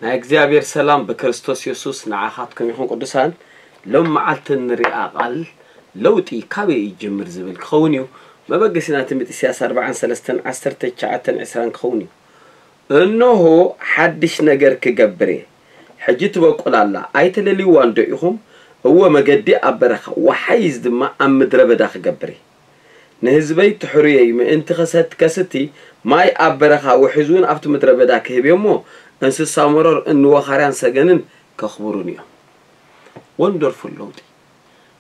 ናይ እግዚኣብሔር ሰላም ብክርስቶስ የሱስ ንዓኻትኩም ይኹን። ቅዱሳን፣ ሎም መዓልቲ እንሪኣ ቃል ለውጢ ካበይ ይጅምር ዝብል ክኸውን እዩ። መበገሲና ትንቢት ኢሳያስ ኣርባዓን ሰለስተን ዓሰርተ ትሽዓተን ዕስራን ክኸውን እዩ። እነሆ ሓድሽ ነገር ክገብር እየ፣ ሕጂ ትበቁል ኣላ፣ ኣይትለልይዋን ዶ ኢኹም? እወ፣ መገዲ ኣብ በረኻ፣ ወሓይዝ ድማ ኣብ ምድረ በዳ ክገብር እየ። ንህዝበይ ትሕሩየይ ምእንቲ ከሰት-፣ ከስቲ ማይ ኣብ በረኻ፣ ውሕዝ እውን ኣብቲ ምድረ በዳ ክህብ እየ እሞ፣ እንስሳ መሮር እንወኻርያን ሰገንን ከኽብሩን እዮም። ወንደርፉል ለውጢ።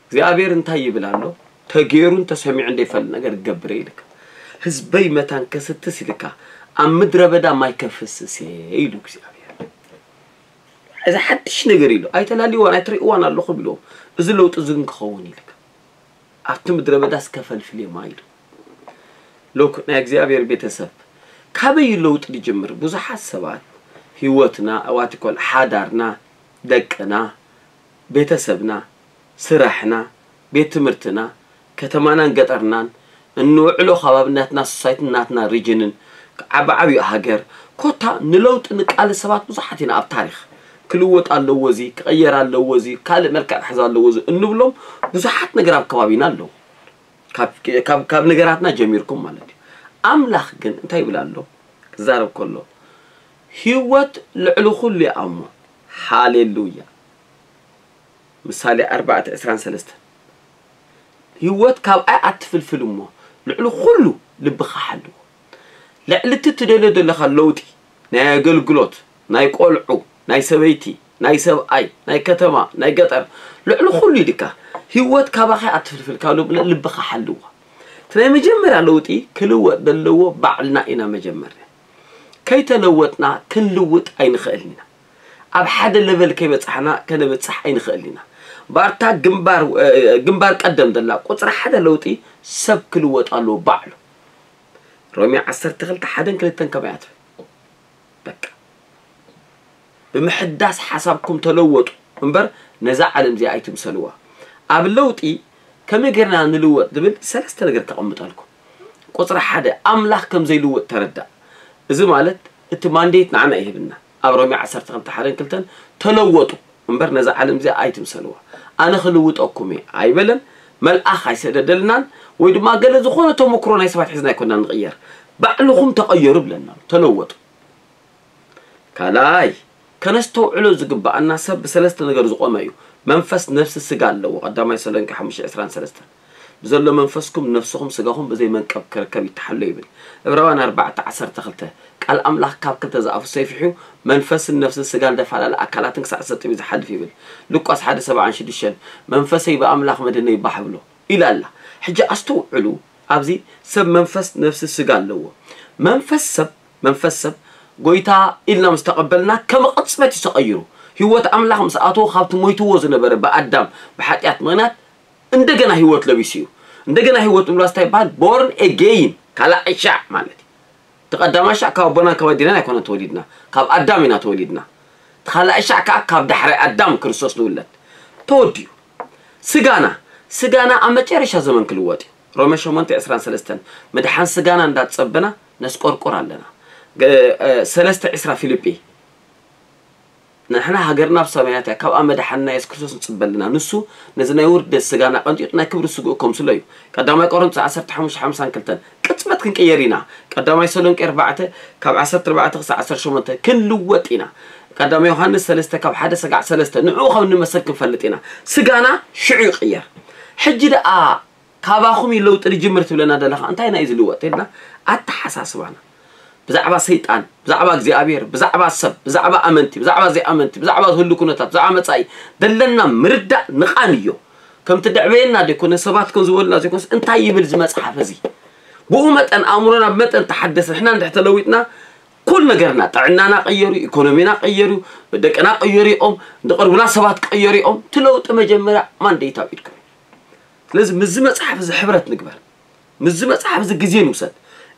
እግዚኣብሔር እንታይ ይብል ኣሎ? ተገይሩን ተሰሚዑ እንደይፈልጥ ነገር ክገብር እየ ኢልካ። ህዝበይ መታን ከስትስ ኢልካ፣ ኣብ ምድረ በዳ ማይ ከፍስስ እየ ኢሉ እግዚኣብሔር። እዚ ሓድሽ ነገር ኢሉ። ኣይተላልይዋን ኣይትርእይዋን ኣለኹም ኢልዎም። እዚ ለውጢ እዚ ግን ክኸውን ኢልካ። ኣብቲ ምድረ በዳስ ከፈልፍል እየ ማይ ኢሉ። ሎክ ናይ እግዚኣብሔር ቤተሰብ፣ ካበይ እዩ ለውጢ ዝጅምር? ብዙሓት ሰባት ህይወትና፣ ኣዋቲኮል ሓዳርና፣ ደቅና፣ ቤተሰብና፣ ስራሕና፣ ቤት ትምህርትና፣ ከተማናን ገጠርናን፣ እንውዕሎ ከባቢ ናትና ሶሳይትን ናትና ሪጅንን ዓቢ ዓብዩ ሃገር፣ ኮታ ንለውጢ ንቃለስ ሰባት ብዙሓት ኢና ኣብ ታሪኽ። ክልወጥ ኣለዎ እዚ፣ ክቐየር ኣለዎ እዚ፣ ካልእ መልክዕ ክሕዝ ኣለዎ እዚ እንብሎም ብዙሓት ነገር ኣብ ከባቢና ኣለዉ። ካብ፣ ካብ፣ ካብ ነገራትና ጀሚርኩም ማለት እዩ። ኣምላኽ ግን እንታይ ይብል ኣሎ? ክዛረብ ከሎ፣ ህይወት ልዕሊ ኩሉ እያ እሞ። ሃሌሉያ። ምሳሌ ኣርባዕተ ዕስራን ሰለስተን። ህይወት ካብኣ እያ ኣትፍልፍል እሞ፣ ልዕሊ ኩሉ ልብኻ ሓልዎ። ልዕሊ እቲ ትደልዮ ዘለኻ ለውጢ፣ ናይ ኣገልግሎት፣ ናይ ቆልዑ፣ ናይ ሰበይቲ፣ ናይ ሰብኣይ፣ ናይ ከተማ፣ ናይ ገጠር፣ ልዕሊ ኩሉ ኢልካ ህይወት ካባኻ እያ ኣትፍልፍል፣ ካብ ልብ-፣ ልብኻ ሓልዎ። እቲ ናይ መጀመርያ ለውጢ ክልወጥ ዘለዎ ባዕልና ኢና መጀመርያ። ከይተለወጥና ክንልውጥ ኣይንኽእልን ኢና። ኣብ ሓደ ለቨል ከይበጻሕና ከነብጽሕ ኣይንኽእልን ኢና። ባርታ ግንባር፣ እ፣ ግንባር ቀደም ዘላ ቁጽሪ ሓደ ለውጢ ሰብ ክልወጥ ኣለዎ ባዕሉ። ሮሜ ዓሰርተ ክልተ ሓደን ክልተን ከመይ እያ ትብል? በቃ። ብምሕዳስ ሓሳብኩም ተለወጡ እምበር ነዛ ዓለም እዚኣ ኣይትምሰልዋ። ኣብ ለውጢ ከመይ ጌርና ንልወጥ ዝብል ሰለስተ ነገር ከቐምጠልኩም። ቁጽሪ ሓደ፣ ኣምላኽ ከም ዘይልወጥ ተረዳእ። እዚ ማለት እቲ ማንዴት ንዓና ይህብና። ኣብ ሮሜ ዓሰርተ ክልተ ሓደን ክልተን ተለወጡ እምበር ነዛ ዓለም እዚኣ ኣይትምሰልዋ። ኣነ ክልውጠኩም እየ ኣይበለን። መልኣኽ ኣይሰደደልናን ወይ ድማ ገለ ዝኾነ ተመክሮ ናይ ሰባት ሒዝና ኣይኮናን ንቕየር። ባዕልኹም ተቐየሩ ብለና ኣሎ። ተለወጡ። ካልኣይ፣ ከነስተውዕሎ ዝግብኣና ሰብ ብሰለስተ ነገር ዝቖመ እዩ። መንፈስ፣ ነፍሲ፣ ስጋ ኣለዎ። ቀዳማይ ተሰሎንቄ ሓሙሽተ ዕስራን ሰለስተን። ብዘሎ መንፈስኩም ነፍስኹም ስጋኹም ብዘይ መንቀብ ክርከብ ይተሓሎ ይብል። ዕብራውያን ኣርባዕተ ዓሰርተ ክልተ። ቃል ኣምላኽ ካብ ክልተ ዝኣፉ ሰይፊ እዩ፣ መንፈስን ነፍስን ስጋን ደፋላለ ኣካላትን ክሳዕ ዝሰጥም እዩ ዝሓልፍ ይብል። ሉቃስ ሓደ ሰብዓን ሽዱሽተን። መንፈሰይ ብኣምላኽ መድህነይ ባህ ብሎ ኢላ ኣላ። ሕጂ ኣስተውዕሉ፣ ኣብዚ ሰብ መንፈስ፣ ነፍሲ፣ ስጋ ኣለዎ። መንፈስ ሰብ፣ መንፈስ ሰብ ጎይታ ኢልና ምስ ተቐበልና ከም ቅጽበት እዩ ተቐይሩ። ህይወት ኣምላኽ ምስ ኣተዎ ካብቲ ሞይትዎ ዝነበረ ብኣዳም ብሓጢኣት ምኽንያት እንደገና ህይወት ለቢሱ እዩ። እንደገና ህይወት ምልባስ እንታይ ይበሃል? ቦርን ኤጌይን፣ ካልኣይ ሻዕ ማለት እዩ። እቲ ቀዳማይ ሻዕ ካብ ኣቦናን ካብ ኣዴናን ኣይኮነን ተወሊድና፣ ካብ ኣዳም ኢና ተወሊድና። እቲ ካልኣይ ሻዕ ከዓ ካብ ዳሕራይ ኣዳም ክርስቶስ ንውለድ። ተወዲኡ። ስጋና፣ ስጋና ኣብ መጨረሻ ዘመን ክልወጥ እዩ። ሮሜ ሸሞንተ ዕስራን ሰለስተን። ምድሓን ስጋና እንዳጸበና ነስቆርቁር ኣለና። ገ-፣ እ፣ ሰለስተ ዕስራ ፊልጲ። ንሕና ሃገርና ኣብ ሰማያት እያ፣ ካብኣ መድሓንና የሱስ ክርስቶስ ንጽበ ኣለና። ንሱ ነዚ ናይ ውርደት ስጋና ቀንጢጡ ናይ ክብሪ ስግኡ ከምስሎ እዩ። ቀዳማይ ቆሮንቶስ ዓሰርተ ሓሙሽተ ሓምሳን ክልተን። ቅጽበት ክንቅየር ኢና። ቀዳማይ ተሰሎንቄ ኣርባዕተ ካብ ዓሰርተ ኣርባዕተ ክሳዕ ዓሰርተ ሸሞንተ ክንልወጥ ኢና። ቀዳማይ ዮሃንስ ሰለስተ ካብ ሓደ ሰጋዕ ሰለስተ ንዕኡ ከም እንመሰል ክንፈልጥ ኢና። ስጋና ሽዑ ይቕየር። ሕጂ ደኣ ካባኹም እዩ ለውጢ ዝጅምር ትብለና ዘለኻ፣ እንታይ ናይ ዝልወጥ ኢልና ኣተሓሳስባና። ብዛዕባ ሰይጣን፣ ብዛዕባ እግዚኣብሔር፣ ብዛዕባ ሰብ፣ ብዛዕባ ኣመንቲ፣ ብዛዕባ ዘይኣመንቲ፣ ብዛዕባ ዝህሉ ኩነታት፣ ብዛዕባ መጻኢ ደለና ምርዳእ ንቓን እዮ። ከምቲ ደዕበየና ዘይኮነ፣ ሰባት ከም ዝበሉና ዘይኮነስ፣ እንታይ ይብል እዚ መጽሓፍ እዚ? ብኡ መጠን ኣእምሮና ብመጠን ተሓደሰ፣ ንሕና እንድሕር ተለዊጥና፣ ኩል ነገርና፣ ጥዕናና ቀየሩ፣ ኢኮኖሚና ቀየሩ፣ ደቅና ቀየሩ እዮም፣ ዝቐርቡና ሰባት ቀየሩ እዮም። እቲ ለውጢ መጀመርያ ማንዴት ኣብ ኢድኩም እዩ። ስለዚ ምስዚ መጽሓፍ እዚ ሕብረት ንግበር። ምስዚ መጽሓፍ እዚ ግዜ ንውሰድ።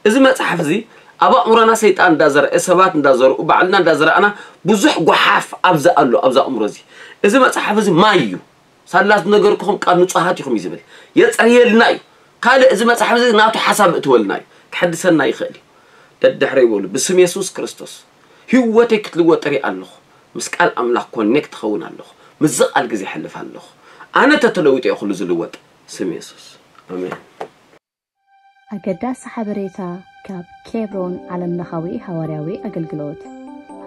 እዚ መጽሓፍ እዚ ኣብ ኣእምሮና ሰይጣን እንዳዘርአ፣ ሰባት እንዳዘርኡ፣ ባዕልና እንዳዘራእና፣ ብዙሕ ጓሓፍ ኣብዚ ኣሎ፣ ኣብዚ ኣእምሮ እዚ። እዚ መጽሓፍ እዚ ማይ እዩ። ሳላ ዝነገርኩኹም ቃል ንጹሃት ኢኹም እዩ ዝብል። የጽርየልና እዩ። ካልእ እዚ መጽሓፍ እዚ ናቱ ሓሳብ እትወልና እዩ። ክሕድሰና ይኽእል እዩ። ደድሕረ ይበሉ፣ ብስም የሱስ ክርስቶስ ህይወተይ ክትልወጥ እርኢ ኣለኹ። ምስ ቃል ኣምላኽ ኮኔክት ክኸውን ኣለኹ። ምስዚ ቃል ግዜ ይሕልፍ ኣለኹ። ኣነ ተተለዊጠ እየ ኩሉ ዝልወጥ። ስም የሱስ። ኣሜን። ኣገዳሲ ሓበሬታ ካብ ኬብሮን ዓለምለኻዊ ሃዋርያዊ ኣገልግሎት።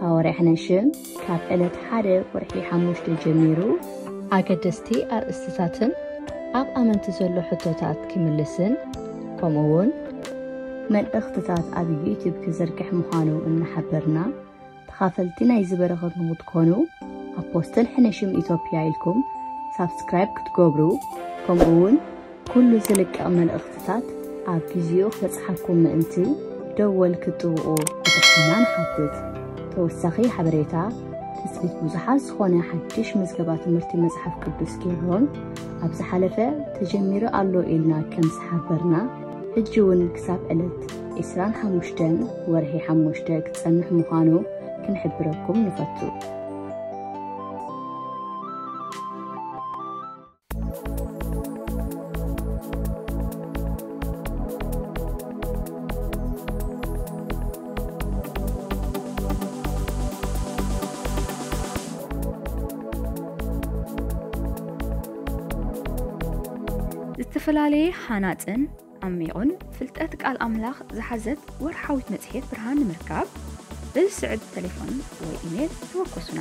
ሃዋርያ ሕነሽም ካብ ዕለት ሓደ ወርሒ ሓሙሽተ ጀሚሩ ኣገደስቲ ኣርእስትታትን ኣብ ኣመንቲ ዘሎ ሕቶታት ክምልስን፣ ከምኡ እውን መልእኽትታት ኣብ ዩቲዩብ ክዝርግሕ ምዃኑ እናሓበርና፣ ተኻፈልቲ ናይዚ በረኸት ንክትኮኑ ኣፖስትል ሕነሽም ኢትዮጵያ ኢልኩም ሳብስክራይብ ክትገብሩ፣ ከምኡ እውን ኩሉ ዝልቀቕ መልእኽትታት ኣብ ግዜኡ ክበጽሓኩም ምእንቲ ደወል ክትጥውቑ ብትሕትና ንሓትት። ተወሳኺ ሓበሬታ፣ ትጽቢት ብዙሓት ዝኾነ ሓድሽ ምዝገባ ትምህርቲ መጽሓፍ ቅዱስ ኬብሮን ኣብ ዝሓለፈ ተጀሚሩ ኣሎ ኢልና ከም ዝሓበርና፣ ሕጂ እውን ክሳብ ዕለት ዕስራን ሓሙሽተን ወርሒ ሓሙሽተ ክጸንሕ ምዃኑ ክንሕብረኩም ንፈቱ። ዝተፈላለየ ሃናጽን ዓሚቑን ፍልጠት ቃል ኣምላኽ ዝሓዘት ወርሓዊት መጽሔት ብርሃን ንምርካብ፣ በዚ ስዕብ ተሌፎን ወይ ኢሜል ተወከሱና።